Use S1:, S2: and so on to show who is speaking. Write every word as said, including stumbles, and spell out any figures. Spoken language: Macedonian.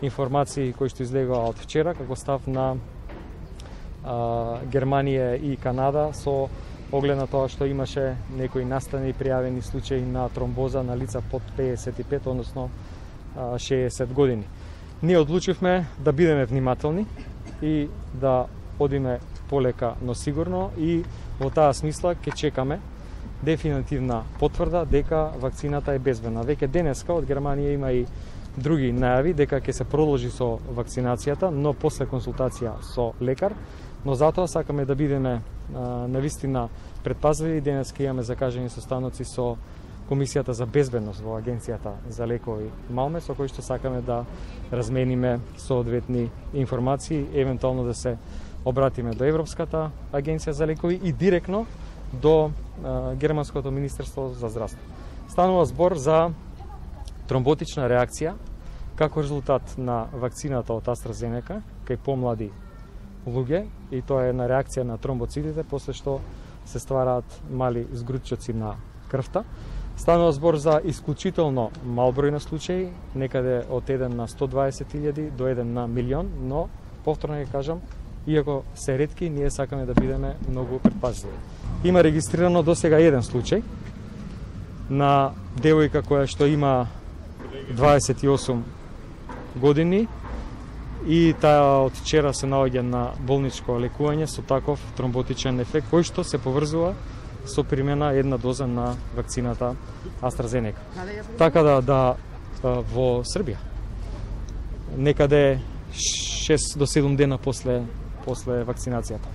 S1: информации кои што излегоа од вчера како став на а, Германија и Канада со оглед на тоа што имаше некои настани пријавени случаи на тромбоза на лица под педесет и пет, односно шеесет години. Ние одлучивме да бидеме внимателни и да одиме полека, но сигурно, и во таа смисла ќе чекаме дефинитивна потврда дека вакцината е безбедна. Веќе денеска од Германија има и други најави дека ќе се продолжи со вакцинацијата, но после консултација со лекар, но затоа сакаме да бидеме навистина предпазливи. Денеска имаме закажани состаноци со Комисијата за безбедност во Агенцијата за лекови Малме, со кои што сакаме да размениме соодветни информации, евентуално да се обратиме до Европската агенција за лекови и директно до а, Германското министерство за здравство. Станува збор за тромботична реакција како резултат на вакцината од AstraZeneca кај помлади луѓе, и тоа е една реакција на тромбоцитите после што се ствараат мали згрудчоци на крвта. Станува збор за исклучително мал број на случаи, некаде од еден на сто дваесет илјади до еден на милион, но повторно ќе кажам, иако се ретки, ние сакаме да бидеме многу предпазливи. Има регистрирано досега еден случај на девојка која што има дваесет и осум години и таа од вчера се наоѓа на болничко лекување со таков тромботичен ефект кој што се поврзува со примена една доза на вакцината AstraZeneca. Така да, да во Србија некаде шест до седум дена после после вакцинацијата.